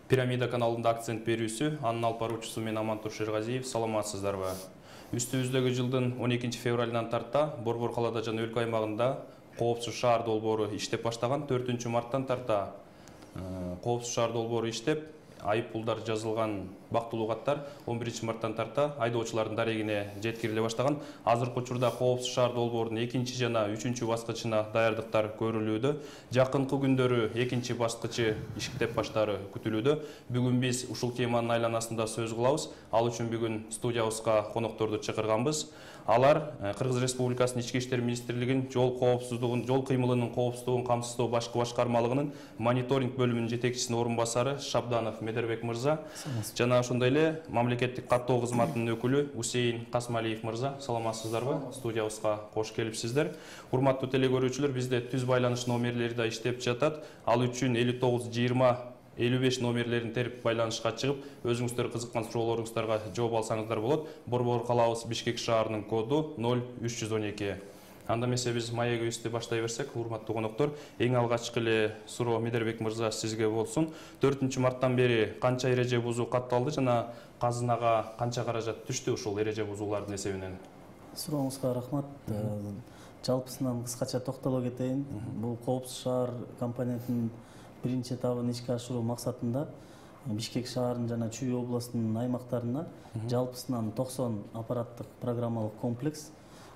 Пирамида каналында акцент берүүсү, анын алып баруучусу мен Амантур Шергазиев. Саламатсыздарбы? Үстүбүздөгү жылдын 12 февралынан тарта Борбор калада жана өлкө аймагында коопсуз шаар долбоору иштеп баштаган. 4 марттан тарта коопсуз шаар долбоору иштеп, айып пулдар жазылган бактылуу каттар 11 марттан тарта айдоочулардын дарегине жеткириле баштаган. Азыркы учурда коопсуз шаар долбоорунун 2 жана 3 баскычына даярдыктар көрүлүүдө. Жакынкы күндөрү 2 баскычы иштеп баштаары күтүлүүдө. Бүгүн биз ушул теманын айланасында сөз кылабыз. Ал үчүн бүгүн студиябызга конокторду чакырганбыз. Алар Кыргыз Республикасынын Ички иштер министрлигинин жол кыймылынын коопсуздугун камсыздоо башкы башкармалыгынын мониторинг бөлүмүнүн жетекчисинин орун басары Шабданов Медербек мырза жана ошондой эле мамлекеттик каттоо кызматынын өкүлү Усейин Касмалиев мырза. Саламатсыздарбы? Студиябызга кош келипсиздер. Урматтуу телекөрүүчүлөр, бизде түз байланыш номерлери да иштеп жатат. Ал үчүн 59 20 55 номерлерин терип байланышка чыгып, өзүңүздөр кызыккан суроолоруңуздарга жооп алсаңыздар болот. Борбор калабыз Бишкек шаарынын коду 0312. Анда эмесе биз маегибизди баштай берсек, урматтуу коноктор, эң алгачкы эле суроо Медербек мырза сизге болсун. 4 марттан бери канча эреже бузуу катталды жана казынага канча каражат түштү ушул эреже бузуулардын эсебинен? Сурооңузга рахмат. Жалпысынан кыскача токтоло кетейин. Бул коопсуз шаар компонентинин биринчи этабын ишке ашыруу максатында Бишкек шаарынын жана Чүй областынын аймактарына жалпысынан 90 аппараттык программалык комплекс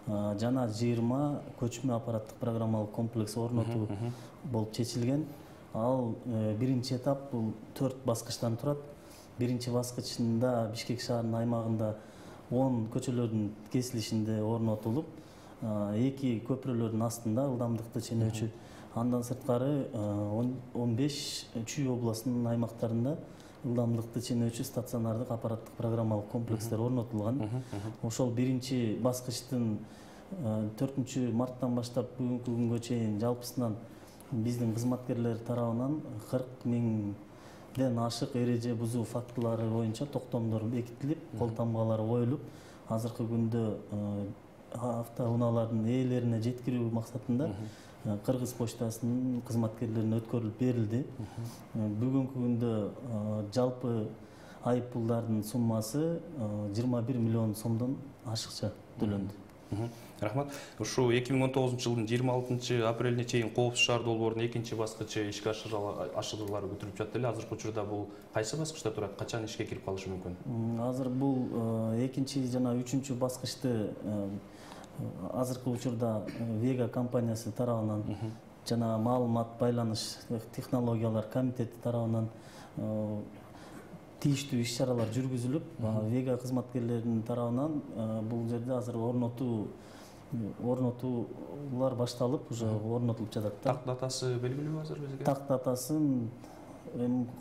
жана 20 көчмө аппараттык программалык комплекс орнотуу болуп чечилген. Ал биринчи этап бул 4 баскычтан турат. Биринчи баскычында Бишкек шаарынын аймагында 10 көчөлөрдүн кесилишинде орнотулуп, 2 көпүрөлөрдүн астында ылдамдыкты ченөөчү. Андан сырткары 15 Чүй областынын аймактарында ылдамдыкты ченөөчү стационардык аппараттык программалык комплекстер орнотулган. Ошол биринчи баскычтын 4 марттан баштап бүгүнкү күнгө чейин жалпысынан биздин кызматкерлер тарабынан 40 миңден ашык эреже бузуу фактылары боюнча токтомдор бекитилип, кол тамгалары коюлуп, азыркы күндө автоунаалардын ээлерине жеткирүү максатында Кыргыз почтасынын кызматкерлерине өткөрүлүп берилди. Бүгүнкү күндө жалпы айып пулдардын суммасы 21 миллион сомдон ашыкча төлөндү. Рахмат. Ушу 2019 жылдын 26 апрелине чейин коопсуз шаар долбоорунун 2 баскычы ишке ашырылары күтүлүп жатты эле. Азыркы учурда бул кайсы баскычта турат? Качан ишке кирип калышы мүмкүн? Азыр бул 2 жана 3 баскычты азыркы учурда Вега компаниясы тарабынан жана маалымат байланыш технологиялар комитети тарабынан тийиштүү иш-чаралар жүргүзүлүп, Вега кызматкерлеринин тарабынан бул жерде азыр орнотуулар башталып, уже орнотулуп жатат. Так датасы белгилүүбү азыр бизге? Так датасын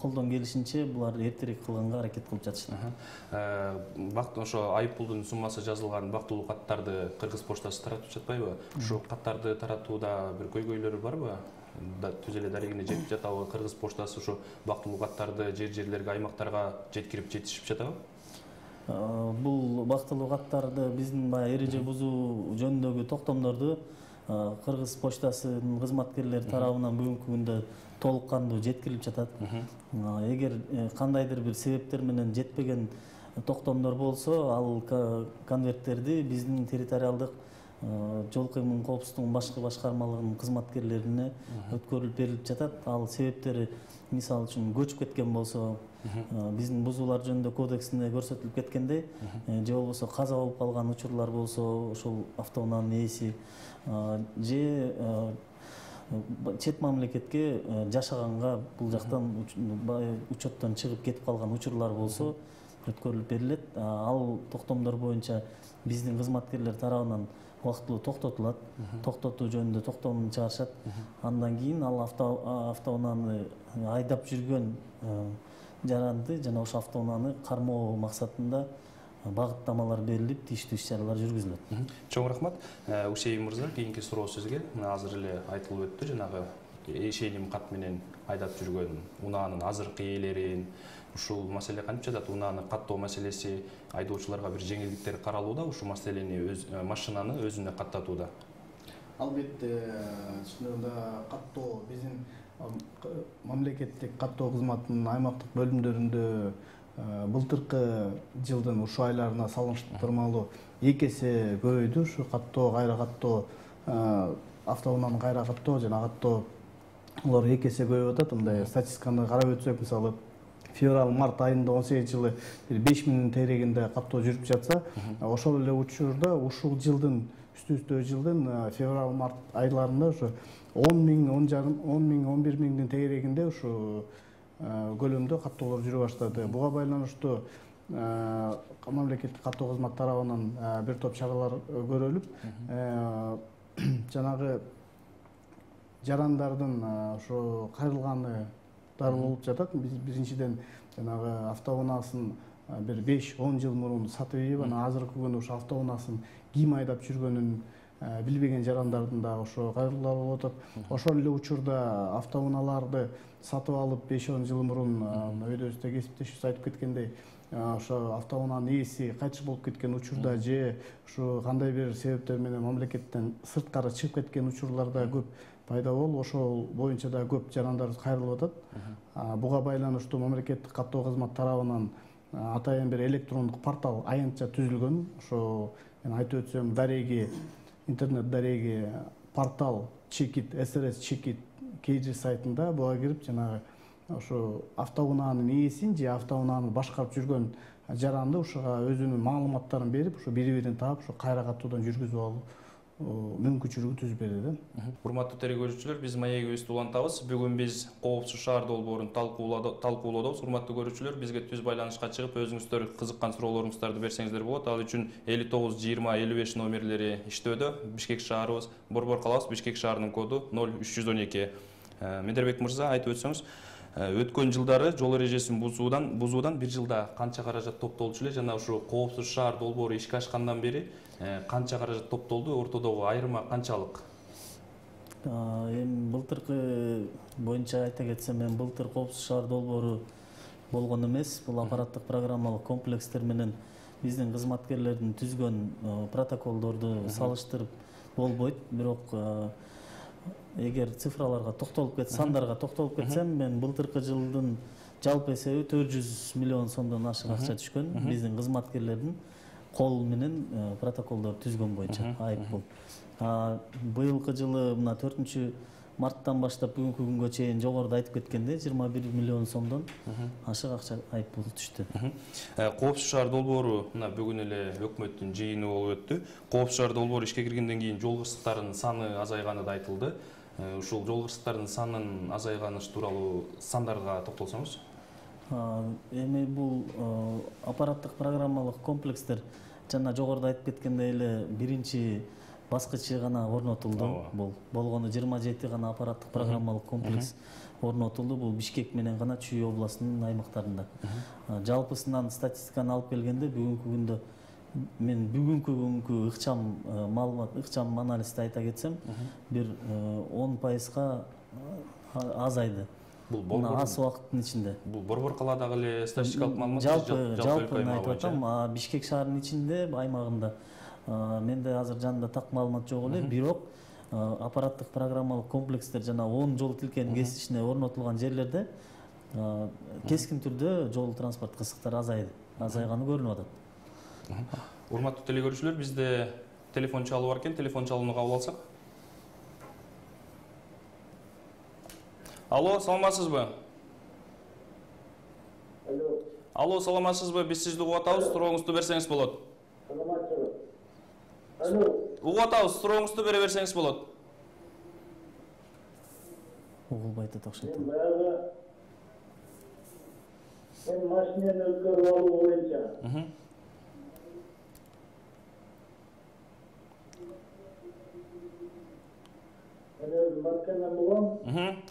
колдон келишинче булар эртерээк кылганга аракет кылып жатышат. Ошо айып пулдун суммасы жазылган бактылуу каттарды Кыргыз почтасы таратып жатпайбы? Ошо каттарды таратууда бир көйгөйлөрү барбы? Түз эле дарегине жетип жатабы? Кыргыз почтасы ошо бактылуу каттарды жерлерге, аймактарга жетишип жатабы? Бул бактылуу каттарды биздин баягы эреже бузуу жөнүндөгү токтомдорду Кыргыз почтасынын кызматкерлери тарабынан бүгүнкү күндө толук кандуу жеткирилип жатат. Эгер кандайдыр бир себептер менен жетпеген токтомдор болсо, ал конверттерди биздин территориалдык жол кыймылынын коопсуздугунун башкы башкармалыгынын кызматкерлерине өткөрүлүп берилип жатат. Ал себептери мисалы үчүн көчүп кеткен болсо, биздин бузуулар жөнүндө кодексинде көрсөтүлүп кеткендей, же болбосо каза болуп калган учурлар болсо, ошол автоунаанын ээси же чет мамлекетке жашаганга бул жактан учеттон чыгып кетип калган учурлар болсо өткөрүлүп берилет. Ал токтомдор боюнча биздин кызматкерлер тарабынан убактылуу токтотулат. Токтотуу жөнүндө токтом чыгарышат. Андан кийин ал автоунааны айдап жүргөн жаранды жана ошо автоунааны кармоо максатында багыттамалар берилип, тийиштүү иш-чаралар жүргүзүлөт. Чоң рахмат. Усейин мырза, кийинки суроо сизге. Азыр эле айтылып өттү, жанагы ишеним кат менен айдап жүргөн унаанын азыркы ээлерин, ушул маселе кантип жатат? Унааны каттоо маселеси, айдоочуларга бир жеңилдиктер каралууда, ушул маселени машинаны өзүнө каттатууда? Албетте, чындыгында каттоо биздин мамлекеттик каттоо кызматынын аймактык бөлүмдөрүндө былтыркы жылдын ушул айларына салыштырмалуу 2 эсе көбөйдү. Ушу каттоо, кайра каттоо, автоунааны кайра каттоо жана каттоо улар 2 эсе көбөйүп атат. Мындай статистиканы карап өтсөк, мисалы февраль-март айында 18 жылы 5000 тегерегинде каттоо жүрүп жатса, ошол эле учурда ушул жылдын үстү жылдын февраль-март айларында ушу 10 миң, 11 миңдин тегерегинде ушу көлөмдө каттоолор жүрө баштады. Буга байланыштуу мамлекеттик каттоо кызматы тарабынан бир топ чаралар көрүлүп, жанагы жарандардын ошо кайрылганы болуп жатат. Биз биринчиден жанагы автоунаасын бир 5-10 жыл мурун сатып ийип, анан азыркы күнү ошо автоунаасын ким айдап жүргөнүн билбеген жарандардын дагы ошо кайрылуулары болуп атат. Ошол эле учурда автоунааларды сатып алып 5-10 жыл мурун өйдөбүздө кесиптешибиз айтып кеткендей, ошо автоунаанын ээси кайтыш болуп кеткен учурда же ушу кандай бир себептер менен мамлекеттен сырткары чыгып кеткен учурлар да көп пайда болуп, ошол боюнча да көп жарандар кайрылып атат. Буга байланыштуу мамлекеттик каттоо кызматы тарабынан атайын бир электрондук портал аянтча түзүлгөн. Ошо мен айтып өтсөм, дареги, интернет дареги портал Чекит, СРС Чекит KG сайтында буга кирип, жанагы ошо автоунаанын ээсин же автоунааны башкарып жүргөн жаранды ушуга өзүнүн маалыматтарын берип, ушу бири-бирин таап, ушу кайра каттуудан жүргүзүп алуу мүмкүнчүлүгү түзүп берди. Урматтуу телекөрүүчүлөр, биз маегибизди улантабыз. Бүгүн биз Коопсуз шаар долбоорун талкуулоодобуз. Урматтуу көрүүчүлөр, бизге түз байланышка чыгып, өзүңүздөр кызыккан суроолоруңуздарды берсеңиздер болот. Ал үчүн 59 20 55 номерлери иштөөдө. Бишкек шаарыбыз, Борбор калабыз, Бишкек шаарынын коду 0312. Медербек мырза, айтып өтсөңүз, өткөн жылдары жол эрежесин бузуудан бир жылда канча каражат топтолчу эле, жана ушу Коопсуз шаар долбоору ишке ашкандан бери канча каражат топтолду, ортодогу айырма канчалык? Эми былтыркы боюнча айта кетсем, мен былтыр Коопсуз шаар долбоору болгон эмес. Бул аппараттык программалык комплекстер менен биздин кызматкерлердин түзгөн протоколдорду салыштырып болбойт. Бирок эгер цифраларга токтолуп кетсем, сандарга токтолуп кетсем, мен былтыркы жылдын жалпы эсеби 400 миллион сомдон ашык акча түшкөн биздин кызматкерлердин кол менен протоколдор түзгөн боюнча айыппул. Быйылкы жылы мына 4-марттан баштап бүгүнкү күнгө чейин жогоруда айтып кеткендей 21 миллион сомдон ашык акча айыппул түштү. Коопсуз шаар долбоору мына бүгүн эле өкмөттүн жыйыны болуп өттү. Коопсуз шаар долбоору ишке киргенден кийин жол кырсыктарынын саны азайганы да айтылды. Ушул жол кырсыктарынын санынын азайганы тууралуу сандарга токтолсоңуз. Эми бул аппараттык программалык комплекстер жана жогоруда айтып кеткендей эле биринчи баскычы гана орнотулду. Бул болгону 27 гана аппараттык программалык комплекс орнотулду. Бул Бишкек менен гана Чүй областынын аймактарында. Жалпысынан статистиканы алып келгенде бүгүнкү күндө мен бүгүнкү күнгү ыкчам маалымат, ыкчам анализди айта кетсем, бир 10%га азайды. Бул аз убакыттын ичинде. Бул Борбор калаадагы эле статистикалык маалымат, жалпы айтып атам, Бишкек шаарынын ичинде, аймагында менде азыр жанымда так маалымат жок эле, бирок аппараттык программалык комплекстер жана 10 жол тилкенин кесишине орнотулган жерлерде кескин түрдө жол транспорт кырсыктары азайганы көрүнүп атат. Урматтуу телекөрүүчүлөр, бизде телефон чалуу бар экен, телефон чалууну кабыл алсак. Алло, саламатсызбы? Алло, саламатсызбы? Биз сизди угуп атабыз, сурооңузду берсеңиз болот. Угуп атабыз, сурооңузду бере берсеңиз болот. Угулбайт окшойт. Мен машинени өткөрүп алуу боюнча. Мен өзүм маркадан болгом.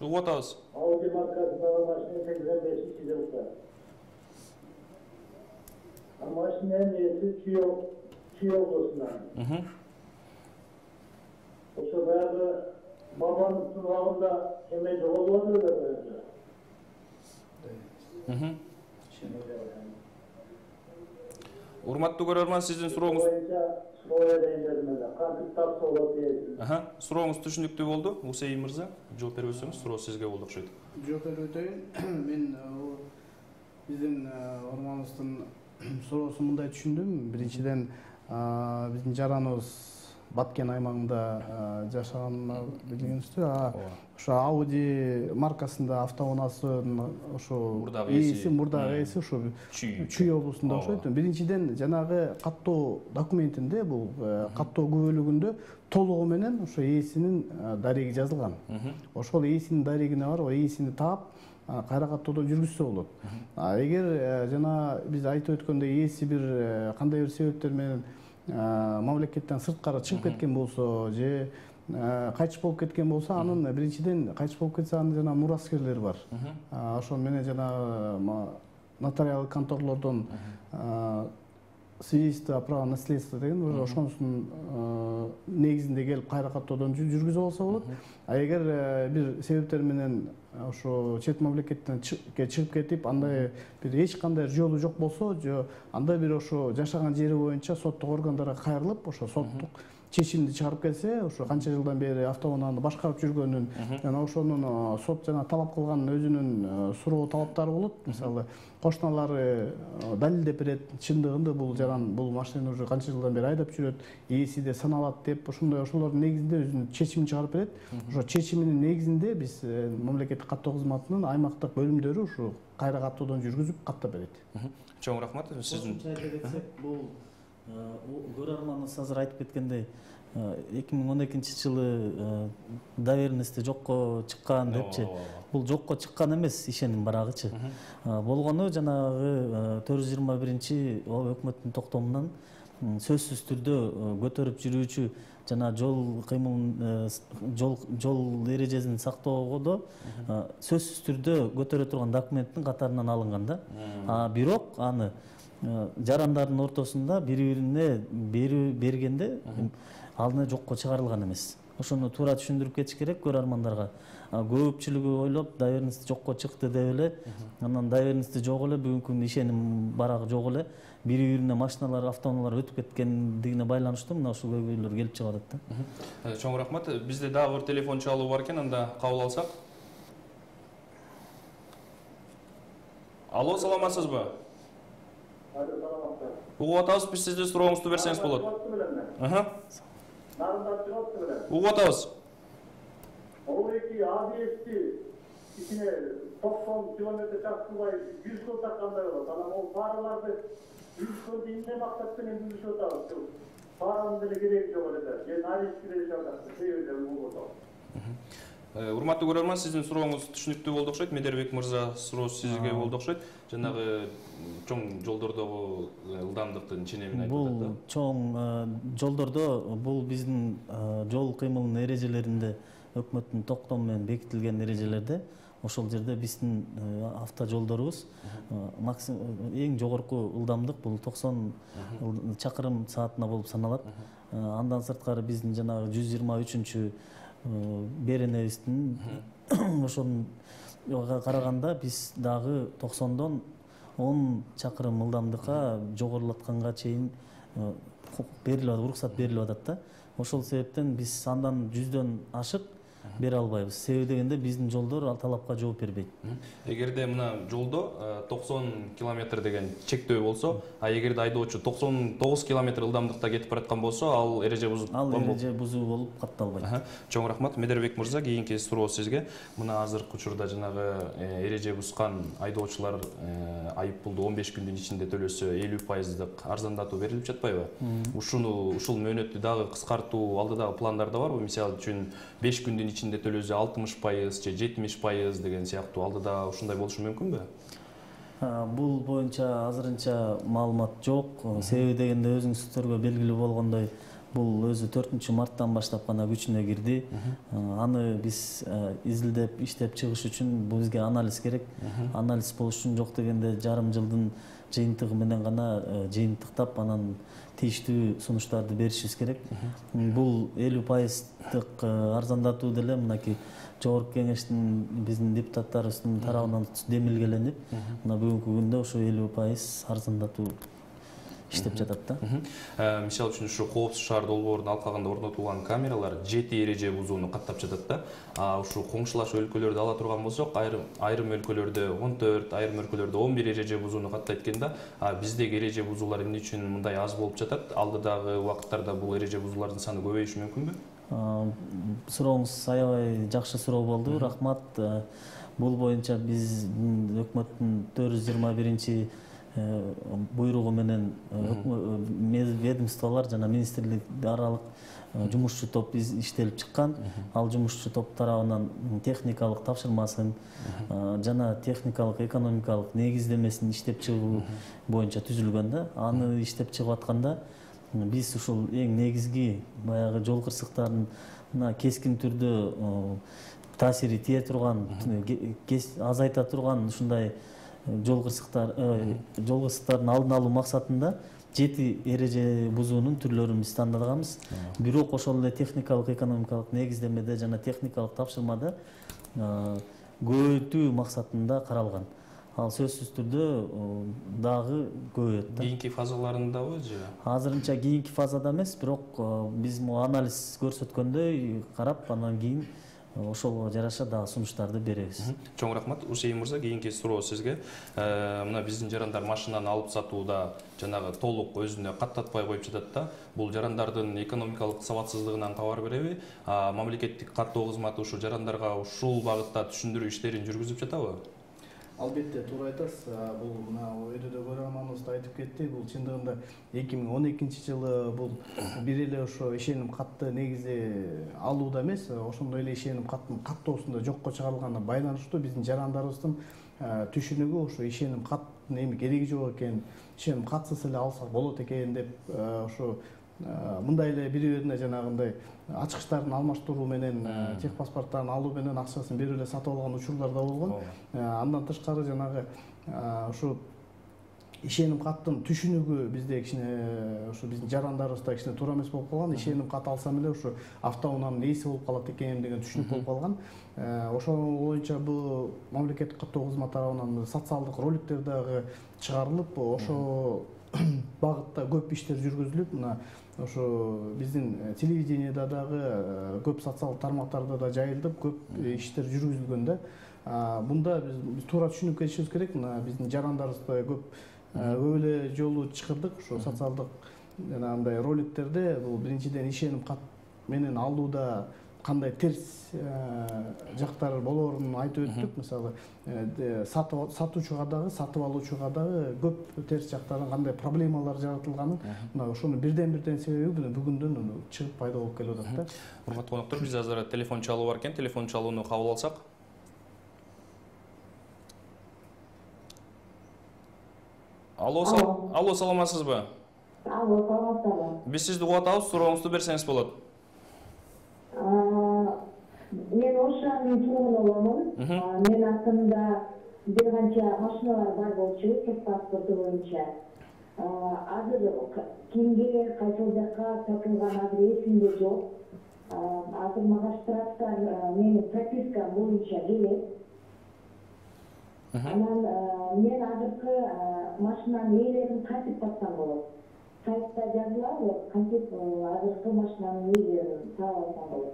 Угуп атабыз. Ауди маркасындагы машина 85-жылкы. Машинанын ээси Чүй областынан. Ошо баягы Бабановдун абагында эме жоголуп атат. Урматтуу көрөрман, сиздин сурооңуз сурооңуз түшүнүктүү болду. Усейин мырза, жооп берип өтсөңүз, суроо сизге болду окшойт. Жооп берип өтөйүн. Мен биздин орманыбыздын суроосун мындай түшүндүм. Биринчиден биздин жараныбыз Баткен аймагында жашаганын билгенсиздер. Ошо Audi маркасында автоунаасынын ошо мурдагы ээси ошо Чүй облусунда окшойт. Биринчиден жанагы каттоо документинде, бул каттоо күбөлүгүндө толугу менен ошо ээсинин дареги жазылган. Ошол ээсинин дарегине барып, ээсини таап кайра каттоодон жүргүзсө болот. Эгер жана биз айтып өткөндөй ээси бир кандай бир себептер менен мамлекеттен сырткары чыгып кеткен болсо же кайтыш болуп кеткен болсо, анын биринчиден кайтыш болуп кетсе, анын жана мураскерлери бар. Ошол менен жана нотариалдык конторлордон свидетельство о праве наследства деген ошонусунун негизинде келип кайра каттоодон жүргүзүп алса болот. Эгер бир себептер менен ошо чет мамлекеттен чыгып кетип, андай бир эч кандай жолу жок болсо, же андай бир ошо жашаган жери боюнча соттук органдарга кайрылып, ошо соттук чечимди чыгарып келсе, ошо канча жылдан бери автоунааны башкарып жүргөнүн жана ошонун сот жана талап кылган өзүнүн суроо талаптары болот. Мисалы, кошуналары далилдеп берет, чындыгында бул жаран бул машинени уже канча жылдан бери айдап жүрөт, ээси де саналат деп, ошолордун негизинде өзүнүн чечимин чыгарып берет. Ошо чечиминин негизинде биз мамлекеттик каттоо кызматынын аймактык бөлүмдөрү ушу кайра каттоодон жүргүзүп каттап берет. Чоң рахмат. Сиздин бул көрөрманыбыз азыр айтып кеткендей, 2012-жылы доверенности жокко чыккан депчи. Бул жокко чыккан эмес, ишеним барагычы. Болгону жанагы 421 өкмөттүн токтомунан сөзсүз түрдө көтөрүп жүрүүчү жана жол кыймылын жол эрежесин сактоодо сөзсүз түрдө көтөрө турган документтин катарынан алынган да. Бирок аны жарандардын ортосунда бири-бирине бергенде ал жокко чыгарылган эмес. Ошону туура түшүндүрүп кетиш керек көрөрмандарга. Көпчүлүгү ойлоп, доверенности жокко чыкты деп эле, анан доверенности жок эле, бүгүнкү күндө ишеним барак жок эле, бири-бирине машиналар, автоунаалар өтүп кеткендигине байланыштуу мына ушул көйгөйлөр келип чыгып атат да. Чоң рахмат. Бизде дагы бир телефон чалуу бар экен, анда кабыл алсак. Алло, саламатсызбы? Угуп атабыз, биз сиздин сурооңузду берсеңиз болот. Угуп атабыз. içine 90 kilometre çarptırmayı 100 yıl takkanlar olur. Ama o paralarda 100 yıl dinle maksatlı ne 100 yıl takkanlar. Paranın bile gerek yok öyle. Yani her işkide yaşarsın. Seviyorum bu burada. Урматтуу көрөрман, сиздин сурооңуз түшүнүктүү болду окшойт. Медербек мырза суроосу сизге болду окшойт. Жанагы чоң жолдордогу ылдамдыктын ченемин айтып атат да. Бул чоң жолдордо бул биздин жол кыймылынын эрежелеринде өкмөттүн токтому менен бекитилген эрежелерде ошол жерде биздин автожолдорубуз эң жогорку ылдамдык бул 90 чакырым саатына болуп саналат. Андан сырткары биздин жанагы 123-чү беренебиздин ошонго караганда биз дагы 90дон 10 чакырым ылдамдыкка жогорулатканга чейин уруксат берилип атат да. Ошол себептен биз андан 100дөн ашык бере албайбыз. Себеби дегенде биздин жолдор ал талапка жооп бербейт. Эгерде мына жолдо 90 км деген чектөө болсо, эгерде айдоочу 99 км ылдамдыкта кетип бараткан болсо, ал эреже бузуу болуп катталбайт. Чоң рахмат. Медербек мырза, кийинки суроо сизге. Мына азыркы учурда жанагы эреже бузган айдоочулар айып пулду 15 күндүн ичинде төлөсө 50% арзандатуу берилип жатпайбы? Ушул мөөнөттү дагы кыскартуу алдыдагы пландарда барбы? Мисалы үчүн 5 күндүн ичинде төлөсө 60% же 70% деген сыяктуу алдыда ушундай болушу мүмкүнбү? Бул боюнча азырынча маалымат жок. Себеби дегенде өзүңүздөргө белгилүү болгондой, бул өзү 4-марттан баштап гана күчүнө кирди. Аны биз изилдеп, иштеп чыгыш үчүн бизге анализ керек. Анализ болуш үчүн жок дегенде жарым жылдын жыйынтыгы менен гана жыйынтыктап, анан тийиштүү сунуштарды беришибиз керек. Бул 50%-тык арзандатуу деле мынакей жогорку кеңештин биздин депутаттарыбыздын тарабынан демилгеленип, мына бүгүнкү күндө ошо 50% арзандатуу иштеп жатат да. Мисалы үчүн ушу коопсуз шаар долбоорунун алкагында орнотулган камералар 7 эреже бузууну каттап жатат да. Ушу коңшулаш өлкөлөрдү ала турган болсок, айрым өлкөлөрдө 14, айрым өлкөлөрдө 11 эреже бузууну каттайт экен да. Биздеги эреже бузуулар эмне үчүн мындай аз болуп жатат? Алдыдагы убакыттарда бул эреже бузуулардын саны көбөйүшү мүмкүнбү? Сурооңуз аябай жакшы суроо болду. Рахмат. Бул боюнча биздин өкмөттүн 421 буйругу менен ведомстволор жана министрлик аралык жумушчу топ иштелип чыккан. Ал жумушчу топ тарабынан техникалык тапшырмасын жана техникалык экономикалык негиздемесин иштеп чыгуу боюнча түзүлгөн да. Аны иштеп чыгып атканда биз ушул эң негизги баягы жол кырсыктарына кескин түрдө таасири тие турган, азайта турган ушундай жол кырсыктардын алдын алуу максатында 7 эреже бузуунун түрлөрүн биз тандаганбыз. Бирок ошол эле техникалык экономикалык негиздемеде жана техникалык тапшырмада көбөйтүү максатында каралган. Ал сөзсүз түрдө дагы көбөйөт да. Кийинки фазаларындабы же? Азырынча кийинки фазада эмес, бирок биз анализ көрсөткөндөй карап, андан кийин ошого жараша дагы сунуштарды беребиз. Чоң рахмат. Усейин мырза, кийинки суроо сизге. Мына биздин жарандар машинаны алып сатууда жанагы толук өзүнө каттатпай коюп жатат да. Бул жарандардын экономикалык сабатсыздыгынан кабар береби? Мамлекеттик каттоо кызматы ушул жарандарга ушул багытта түшүндүрүү иштерин жүргүзүп жатабы? Албетте, туура айтасыз. Бул мына өйдө көрөрманыбыз да айтып кетти. Бул чындыгында 2012-жылы бул бир эле ошо ишеним катты негизде алууда эмес, ошондой эле ишеним каттын каттоосунда жокко чыгарылганына байланыштуу биздин жарандарыбыздын түшүнүгү ошо ишеним каттын эми кереги жок экен, ишеним катсыз эле алсак болот экен деп ошо мындай эле бири-бирине жанагындай ачкычтарын алмаштыруу менен техпаспорттарын алуу менен акчасын берип эле сатып алган учурлар да болгон. Андан тышкары жанагы ушу ишеним каттын түшүнүгү бизде кичине ушу биздин жарандарыбызда кичине туура эмес болуп калган. Ишеним кат алсам эле ушу автоунаанын ээси болуп калат экен деген түшүнүк болуп калган. Ошол боюнча бул мамлекеттик каттоо кызматы тарабынан социалдык роликтер дагы чыгарылып, ошо багытта көп иштер жүргүзүлүп, мына ошо биздин телевидениеда дагы көп социалдык тармактарда да жайылып, көп иштер жүргүзүлгөн да. Бунда биз туура түшүнүп кетишибиз керек. Мына биздин жарандарыбызда көп эле жолу чакырдык ошо социалдык жанагындай роликтерде. Бул биринчиден ишеним кат менен алууда кандай терс жактары болоорун айтып өттүк. Мисалы, сатуучуга дагы, сатып алуучуга дагы көп терс жактардан кандай проблемалар жаратылганын, мына ошонун бирден себеби бүгүндөн чыгып пайда болуп келип атат да. Урматтуу коноктор, биз азыр телефон чалуу бар экен. Телефон чалууну кабыл алсак. Алло, саламатсызбы? Алло, саламатсызбы? Биз сизди угуп атабыз, сурооңузду берсеңиз болот. Мен Ошанын туугуну боломун. Мен артымда бир канча машиналар бар болчу, техпаспорту боюнча. Азыр кимге, кайсыл жакка сатылган азыр эсимде жок. Азыр мага штрафтар менин пропискам боюнча келет. Анан мен азыркы машинанын ээлерин кантип тапсам болот? Сайтта жазылабы, кантип азыркы машинанын ээлерин таап алсам болот?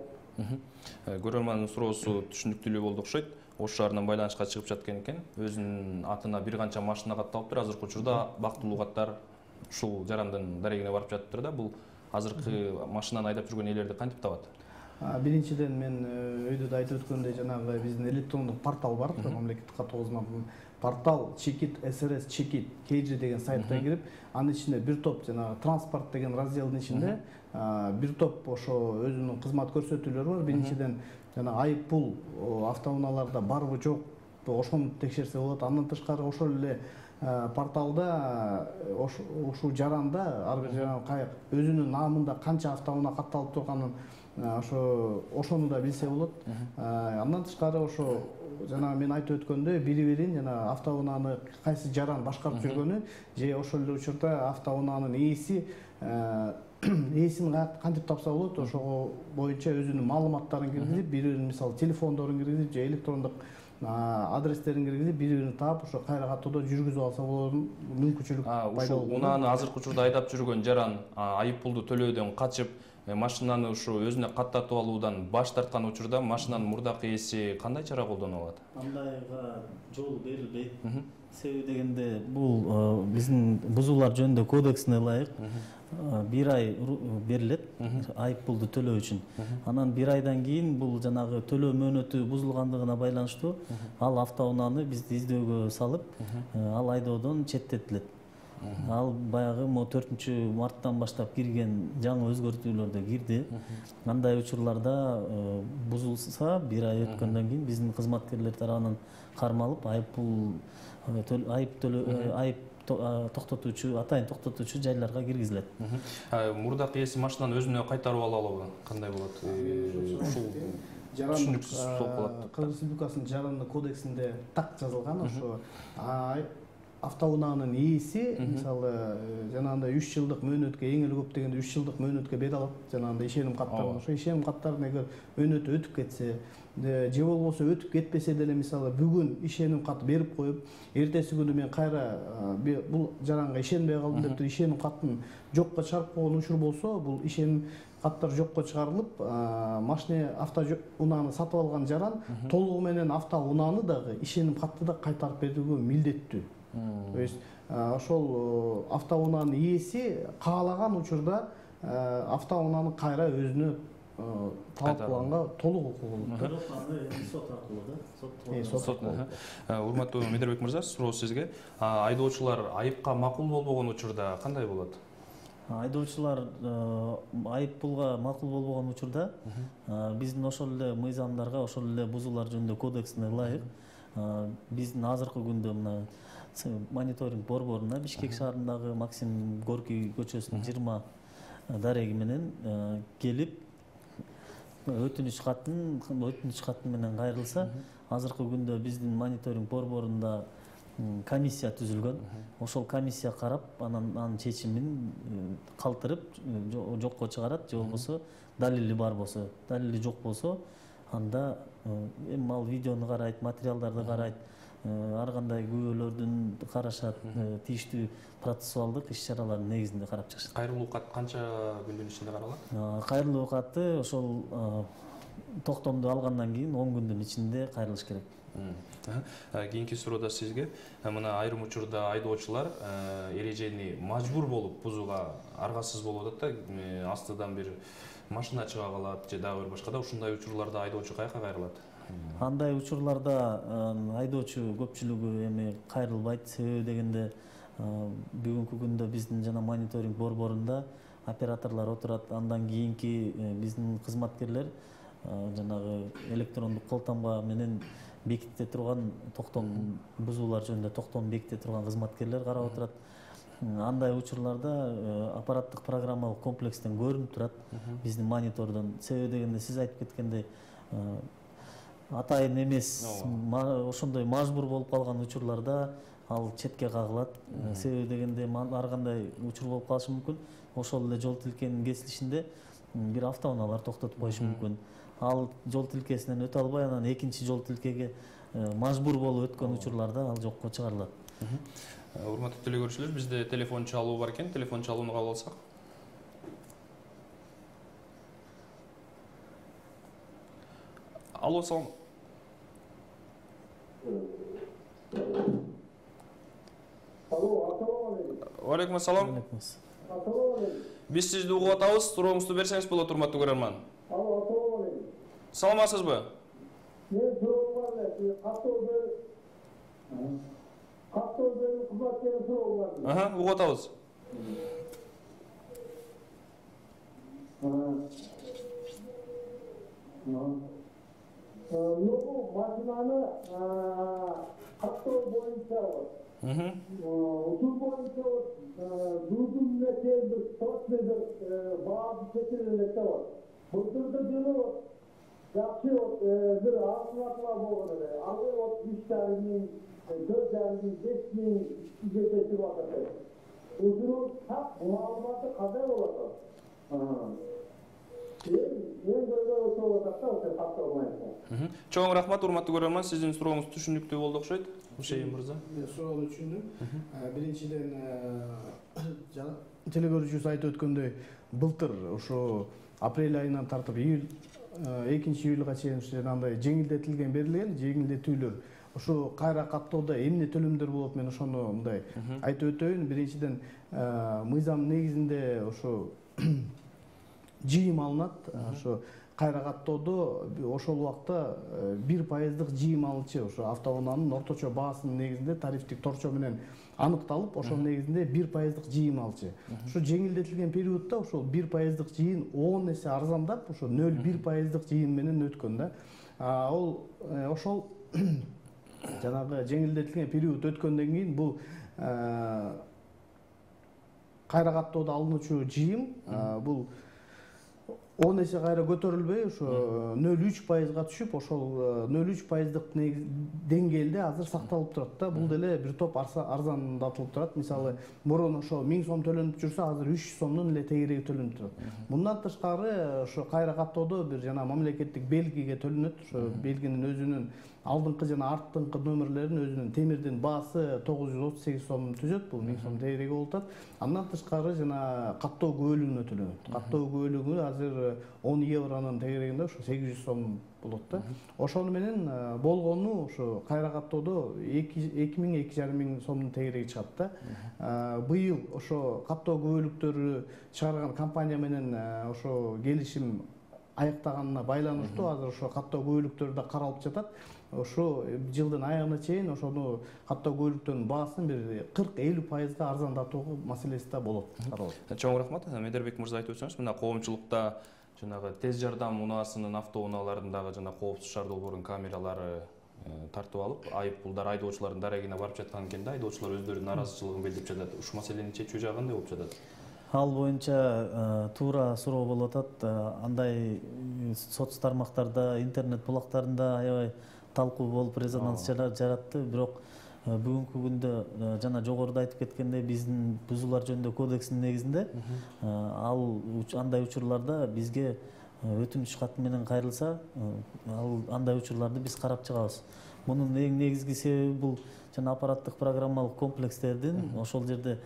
Көрөрмандын суроосу түшүнүктүү болду окшойт. Ош шаарынан байланышка чыгып жаткан экен. Өзүнүн атына бир канча машина катталыптыр. Азыркы учурда бактылуу каттар ушул жарандын дарегине барып жатыптыр да. Бул азыркы машинаны айдап жүргөн ээлерди кантип табат? Биринчиден мен өйдө да айтып өткөндөй жанагы биздин электрондук портал бар, мамлекеттик каттоо кызматынын портал Чекит СРС Чекит KG деген сайтка кирип, анын ичинде бир топ жанагы транспорт деген разделдин ичинде бир топ ошо өзүнүн кызмат көрсөтүүлөрү бар. Биринчиден жана айып пул автоунааларда барбы жокпу ошону текшерсе болот. Андан тышкары ошол эле порталда ушул жаранда ар бир жаран каяк өзүнүн наамында канча автоунаа катталып турганын ошону да билсе болот. Андан тышкары ошо жана мен айтып өткөндөй бири-бирин жана автоунааны кайсы жаран башкарып жүргөнү же ошол эле учурда автоунаанын ээси ээсин кантип тапса болот, ошого боюнча өзүнүн маалыматтарын киргизип, бири-биринин мисалы телефондорун киргизип же электрондук адрестерин киргизип бири-бирин таап ошо кайра каттоодо жүргүзүп алса болоорун мүмкүнчүлүк пайда ушул болот. унааны азыркы учурда айдап жүргөн жаран айып пулду төлөөдөн качып машинаны ушу өзүнө каттатып алуудан баш тарткан учурда машинанын мурдакы ээси кандай чара колдоно алат? Андайга жол берилбейт. Себеби дегенде бул биздин бузуулар жөнүндө кодексине ылайык 1 ай берилет айып пулду төлөө үчүн. Анан 1 айдан кийин бул жанагы төлөө мөөнөтү бузулгандыгына байланыштуу ал автоунааны бизди издөөгө салып, ал айдоодон четтетилет. Ал баягы 4-марттан баштап кирген жаңы өзгөртүүлөрдө кирди. Андай учурларда бузулса 1 ай өткөндөн кийин биздин кызматкерлер тарабынан кармалып айып токтотуучу, атайын токтотуучу жайларга киргизилет. Мурдакы ээси машинаны өзүнө кайтарып алабы? Кандай болот? Ушул түшүнүксүз болуп калат. Кыргыз Республикасынын жарандык кодексинде так жазылган ошо автоунаанын ээси мисалы жанагындай 3 жылдык мөөнөткө, эң эле көп дегенде 3 жылдык мөөнөткө бет алат. Жанагындай ишеним каттарын, ошо ишеним каттарын эгер мөөнөтү өтүп кетсе же болбосо өтүп кетпесе деле мисалы бүгүн ишеним кат берип коюп, эртеси күнү мен кайра бул жаранга ишенбей калдым деп туруп ишеним катын жокко чыгарып койгон учур болсо, бул ишеним каттар жокко чыгарылып, машина автоунааны сатып алган жаран толугу менен автоунааны дагы ишеним катты да кайтарып берүүгө милдеттүү. То есть ошол автоунаанын ээси каалаган учурда автоунааны кайра өзүнө талап кылганга толук укугу болот. Бирок аны сот аркылуу Сот. Урматтуу Медербек мырза, суроо сизге. Айдоочулар айыпка макул болбогон учурда кандай болот? Айдоочулар айып пулга макул болбогон учурда биздин ошол эле мыйзамдарга, ошол эле бузуулар жөнүндө кодексине ылайык биздин азыркы күндө мына мониторинг борборуна Бишкек шаарындагы Максим Горький көчөсүнүн 20 дареги менен келип өтүнүч катын менен кайрылса, азыркы күндө биздин мониторинг борборунда комиссия түзүлгөн. Ошол комиссия карап, анын чечимин калтырып жокко чыгарат, же болбосо далили бар болсо, далили жок болсо, анда эми ал видеону карайт, материалдарды карайт, ар кандай күбөлөрдүн карашат, тийиштүү процессуалдык иш-чаралардын негизинде карап чыгышат. Кайрылуу кат канча күндүн ичинде каралат? Кайрылуу каты ошол токтомду алгандан кийин 10 күндүн ичинде кайрылыш керек. Кийинки суроо да сизге. Мына айрым учурда айдоочулар эрежени мажбур болуп бузууга аргасыз болуп атат да, астыдан бир машина чыга калат же дагы бир башка да, ушундай учурларда айдоочу каяка кайрылат? Андай учурларда айдоочу көпчүлүгү эми кайрылбайт. Себеби дегенде бүгүнкү күндө биздин жана мониторинг борборунда операторлор отурат. Андан кийинки биздин кызматкерлер жанагы электрондук кол тамга менен беките турган токтом бузуулар жөнүндө токтом беките турган кызматкерлер карап отурат. Андай учурларда аппараттык программалык комплекстен көрүнүп турат биздин монитордон. Себеби дегенде сиз айтып кеткендей атайын эмес ошондой мажбур болуп калган учурларда ал четке кагылат. Себеби дегенде ар кандай учур болуп калышы мүмкүн. Ошол эле жол тилкенин кесилишинде бир автоунаалар токтотуп коюшу мүмкүн. Ал жол тилкесинен өтө албай, анан экинчи жол тилкеге мажбур болуп өткөн учурларда ал жокко чыгарылат. Урматтуу телекөрүүчүлөр, бизде телефон чалуу бар экен. Телефон чалууну кабыл алсак. Алло, салам. Алло, ассаламу алейкум. Алейкум ассалам. Ассаламу алейкум. Биз сизди угуп атабыз. Сурооңузду берсеңиз болот, урматтуу көрөрман. Алло, ассаламу алейкум. Саламатсызбы? Мен суроом бар эле. Каттоодон кызматкерин суроом бар. Угуп атабыз. Бул машинаны каттоо боюнча учур боюнча дуудун нече точный баасы чечилип элек да бар. Былтыркы жылы жакшы бир артылатылар болгон эле. Ал 3,5 миң, 4,5 миң, 5 миң жетип атат. Учурун так маалыматы кандай болот? мен көйгөй ошол атакта ошо катталмайт. Чоң рахмат, урматтуу көрөрман. Сиздин сурооңуз түшүнүктүү болду окшойт. Ушейин мырза. Суроону түшүндүм. Биринчиден телекөрүүчүбүз айтып өткөндөй, былтыр ошо апрель айынан тартып июль 2-июлга чейин андай жеңилдетилген берилген жеңилдетүүлөр ошо кайра каттоодо эмне төлөмдөр болот, мен ошону мындай айтып өтөйүн. Биринчиден мыйзам негизинде ошо жыйым алынат. Ошо кайра каттоодо ошол убакта 1% жыйым алынчу ошо автоунаанын орточо баасынын негизинде тарифтик торчо менен аныкталып, ошонун негизинде 1% жыйым алчу. Ошо жеңилдетилген периодто ошол 1% жыйын 10 эсе арзандап, ошо 0,1% жыйын менен өткөн да. Ошол жанагы жеңилдетилген период өткөндөн кийин бул кайра каттоодо алынуучу жыйым бул 10 эсе кайра көтөрүлбөй, ошо 0,3%га түшүп, ошол 0,3%дык деңгээлде азыр сакталып турат да. Бул деле бир топ арзандатылып турат. Мисалы, мурун ошо 1000 сом төлөнүп жүрсө, азыр 300 сомдун эле тегереги төлөнүп турат. Мындан тышкары ошо кайра каттоодо бир жана мамлекеттик белгиге төлөнөт. Ошо белгинин өзүнүн алдыңкы жана арттыңкы номерлерин өзүнүн темирдин баасы 938 сом түзөт, бул 1000 сом тегереги болуп атат. Андан тышкары жана каттоо көбөлүгүнө төлөнөт. Каттоо көбөлүгү азыр 10 евронун тегерегинде ошо 800 сом болот да. Ошону менен болгону ошо кайра каттоодо 2000-2500 сомдун тегереги чыгат да. Быйыл ошо каттоо көбөлүктөрү чыгарган компания менен ошо келишим аяктаганына байланыштуу азыр ошо каттоо көбөлүктөрү да каралып жатат. Ошо жылдын аягына чейин ошону каттоо көбөлүктөрүнүн баасын бир 40-50% арзандатуу маселеси да болот. Чоң рахмат. Медербек мырза айтып өтсөңүз, мына коомчулукта жанагы тез жардам унаасынын автоунааларындагы жана коопсуз шаар долбоорунун камералары тартып алып, айыппулдар айдоочулардын дарегине барып жаткан экен да, айдоочулар өздөрүнүн нааразычылыгын билдирип жатат. Ушул маселени чечүү жагы кандай болуп жатат? Ал боюнча туура суроо болуп атат. Андай соц тармактарда, интернет булактарында аябай талкуу болуп резонанс жаратты. Бирок бүгүнкү күндө жана жогоруда айтып кеткендей, биздин бузуулар жөнүндө кодекстин негизинде ал андай учурларда бизге өтүнүч кат менен кайрылса, ал андай учурларды биз карап чыгабыз. Мунун эң негизги себеби бул жана аппараттык программалык комплекстердин ошол жерде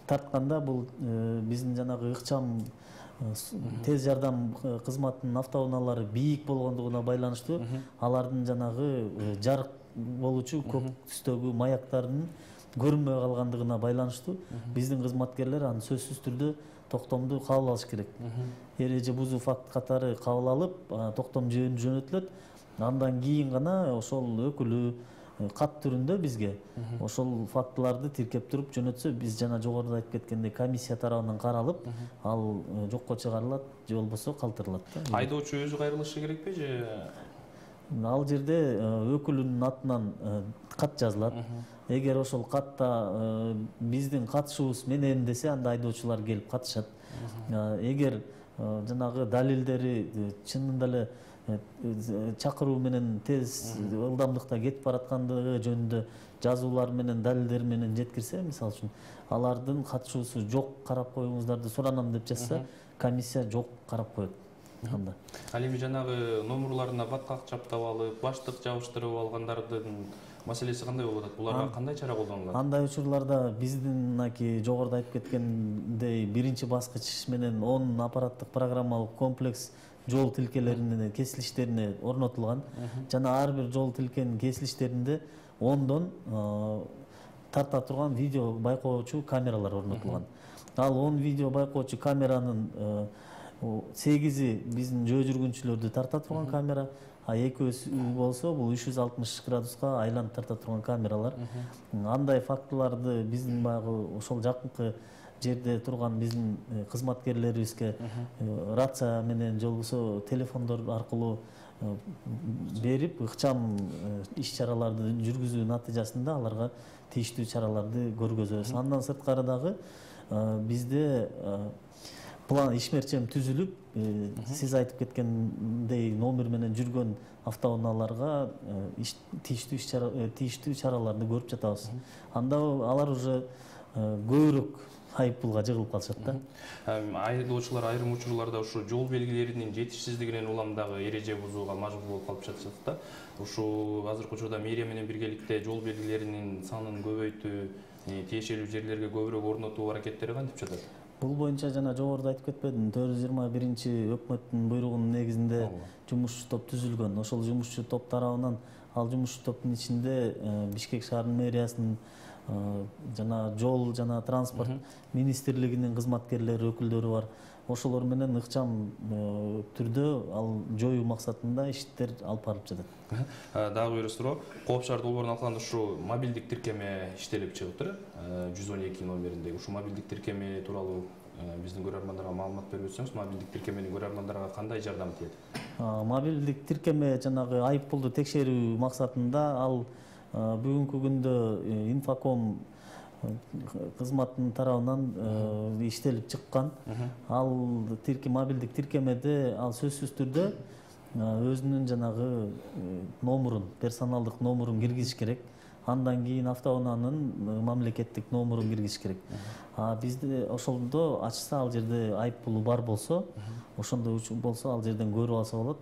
тартканда бул биздин жанагы ыкчам тез жардам кызматынын автоунаалары бийик болгондугуна байланыштуу, алардын жанагы жарык болуучу көк түстөгү маяктардын көрүнбөй калгандыгына байланыштуу биздин кызматкерлер аны сөзсүз түрдө токтомду кабыл алыш керек. Эреже бузуу факт катары кабыл алып, токтом жөнөтүлөт. Андан кийин гана ошол өкүлү кат түрүндө бизге ошол фактыларды тиркеп туруп жөнөтсө, биз жана жогоруда айтып кеткендей комиссия тарабынан каралып, ал жокко чыгарылат же болбосо калтырылат. Айдоочу өзү кайрылышы керекпи же? Ал жерде өкүлүнүн атынан кат жазылат. Эгер ошол катта биздин катышуубуз менен десе, анда айдоочулар келип катышат. Эгер жанагы далилдери чынында эле чакыруу менен тез ылдамдыкта кетип бараткандыгы жөнүндө жазуулар менен далилдер менен жеткирсе, мисалы үчүн алардын катышуусу жок, карап коюңуздар деп суранам деп жазса, комиссия жок карап коет. Ал эми жанагы номурларына баткак чаптап алып, баштык жабыштырып алгандардын маселеси кандай болуп атат? Буларга кандай чара колдонулат? Андай учурларда биздин жогоруда айтып кеткендей биринчи баскыч менен 10 аппараттык программалык комплекс жол тилкелеринин кесилиштерине орнотулган. Жана ар бир жол тилкенин кесилиштеринде 10дон тарта турган видео байкоочу камералар орнотулган. Ал 10 видео байкоочу камеранын 8и биздин жөө жүргүнчүлөрдү тарта турган камера, а 2 болсо бул 360 градуска айланып тарта турган камералар. Андай фактыларды биздин баягы ошол жакынкы жерде турган биздин кызматкерлерибизге рация менен же болбосо телефондор аркылуу берип, ыкчам иш-чараларды жүргүзүү натыйжасында аларга тийиштүү чараларды көргөзөбүз. Андан сырткары дагы бизде план ишмерчем түзүлүп, сиз айтып кеткендей номер менен жүргөн автоунааларга тийиштүү чараларды көрүп жатабыз. Анда алар уже көбүрөөк айып пулга жыгылып калышат да. Айдоочулар айрым учурларда ушу жол белгилеринин жетишсиздигинен улам дагы эреже бузууга мажбур болуп калып жатышат да. Ушу азыркы учурда мэрия менен биргеликте жол белгилеринин санын көбөйтүү, тиешелүү жерлерге көбүрөөк орнотуу аракеттери кантип жатат? Бул боюнча жана жогоруда айтып кетпедимби, 421-өкмөттүн буйругунун негизинде жумушчу топ түзүлгөн. Ошол жумушчу топ тарабынан ал жумушчу топтун ичинде Бишкек шаарынын мэриясынын жана жол жана транспорт министрлигинин кызматкерлери, өкүлдөрү бар. Ошолор менен ыкчам түрдө ал жоюу максатында иштер алып барылып жатат. Дагы бир суроо, Кооп шаар долбоорун алганда ушу мобилдик тиркеме иштелип чыгыптыр, 112 номериндеги. Ушу мобилдик тиркеме тууралуу биздин көрөрмандарга маалымат берип өтсөңүз, мобилдик тиркеменин көрөрмандарга кандай жардам тиет? Мобилдик тиркеме жанагы айып пулду текшерүү максатында ал бүгүнкү күндө Инфоком кызматтын тарабынан иштелип чыккан. Ал мобилдик тиркемеде ал сөзсүз түрдө өзүнүн жанагы номурун, персоналдык номурун киргизиш керек. Андан кийин автоунаанын мамлекеттик номурун киргизиш керек. Бизде ошондо ачса ал жерде айып пулу бар болсо, ошондой болсо ал жерден көрүп алса болот.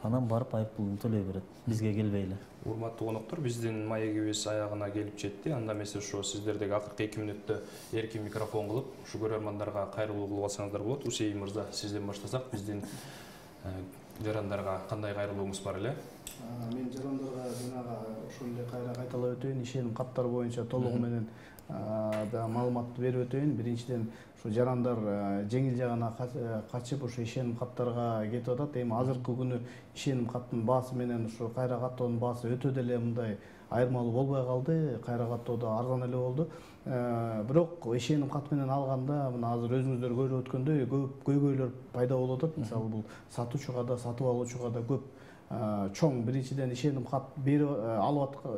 Анан барып айып пулун төлөй берет, бизге келбей эле. Урматтуу коноктор, биздин маегибиз аягына келип жетти. Анда эмесе ушу сиздердеги акыркы 2 мүнөттө эркин микрофон кылып, ушу көрөрмандарга кайрылуу кылып алсаңыздар болот. Усей мырза, сизден баштасак, биздин жарандарга кандай кайрылууңуз бар эле? Мен жарандарга жанагы ошол эле кайталап өтөйүн, ишеним каттары боюнча толугу менен маалыматты берип өтөйүн. Биринчиден, ушу жарандар жеңил жагына качып, ушу ишеним каттарга кетип атат. Эми азыркы күнү ишеним каттын баасы менен ушу кайра каттоонун баасы өтө деле мындай айырмалуу болбой калды. Кайра каттоодо арзан эле болду. Бирок ишеним кат менен алганда, мына азыр өзүңүздөр көрүп өткөндөй көп көйгөйлөр пайда болуп атат. Мисалы бул сатуучуга да, сатып алуучуга да көп чоң. Биринчиден ишеним кат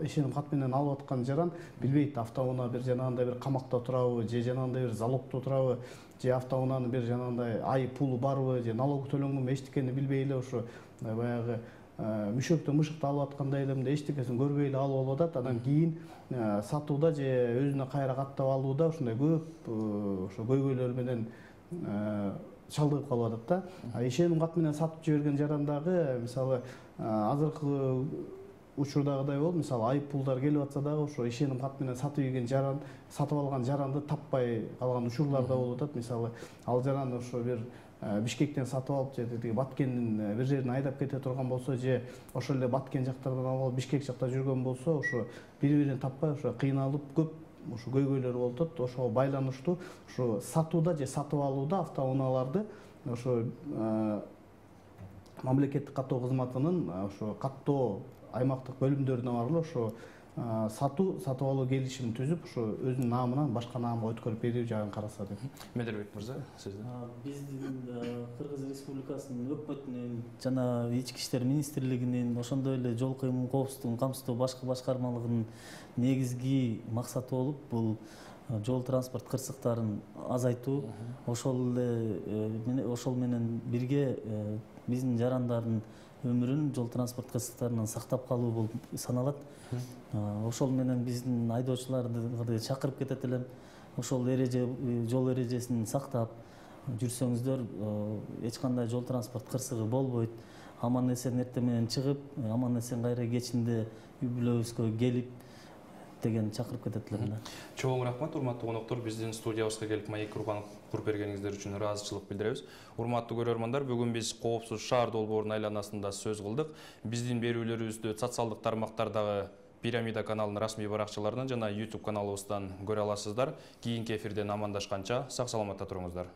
ишеним кат менен алып аткан жаран билбейт, автоунаа бир жанагындай бир камакта турабы, же жанагындай бир залогдо турабы, же автоунаанын бир жанагындай айып пулу барбы, же налог төлөнгөнбү, эчтекени билбей эле ушу баягы мүшөктө мышыкты алып аткандай эле мындай эчтекесин көрбөй эле алып алып атат. Андан кийин сатууда же өзүнө кайра каттап алууда ушундай көп ошо көйгөйлөр менен чалдыгып калып атат да. Ишеним кат менен сатып жиберген жарандагы мисалы азыркы учурдагыдай болуп, мисалы айып пулдар келип атса дагы ошо ишеним кат менен сатып алган жаранды таппай калган учурлар да болуп атат. Мисалы ал жаран ошо бир Бишкектен сатып алып, же тиги Баткендин бир жерине айдап кете турган болсо, же ошол эле Баткен жактардан алып Бишкек жакта жүргөн болсо, ошо бири-бирин таппай ошо кыйналып көп ушу көйгөйлөр болуп атат. Ошого байланыштуу ушу сатууда же сатып алууда автоунааларды ошо мамлекеттик каттоо кызматынын ошо каттоо аймактык бөлүмдөрүнө барып ошо сатып алуу келишимин түзүп, ошо өзүнүн наамынан башка наамга өткөрүп берүү жагын караса деп. Медербек мырза, сиздин? Биздин Кыргыз Республикасынын өкмөтүнүн жана Ички иштер министрлигинин, ошондой эле жол кыймыл коопсуздугун камсыздоо башкы башкармалыгынын негизги максаты болуп, бул жол транспорт кырсыктарын азайтуу. Ошол менен бирге биздин жарандардын өмүрүн жол транспорт кырсыктарынан сактап калуу болуп саналат. Ошол менен биздин айдоочуларды чакырып кетет элем. Ошол жол эрежесин сактап жүрсөңүздөр, эч кандай жол транспорт кырсыгы болбойт. Аман эсен эртең менен чыгып, аман эсен кайра кечинде үй бүлөбүзгө келип деген чакырып кетет элем да. Чоң рахмат, урматтуу коноктор, биздин студиябызга келип маек куруп бергениңиздер үчүн ыраазычылык билдиребиз. Урматтуу көрөрмандар, бүгүн биз коопсуз шаар долбоорунун айланасында сөз кылдык. Биздин берүүлөрүбүздү социалдык тармактардагы Пирамида каналынын расмий баракчаларынан жана YouTube каналыбыздан көрө аласыздар. Кийинки эфирден амандашканча сак саламатта туруңуздар.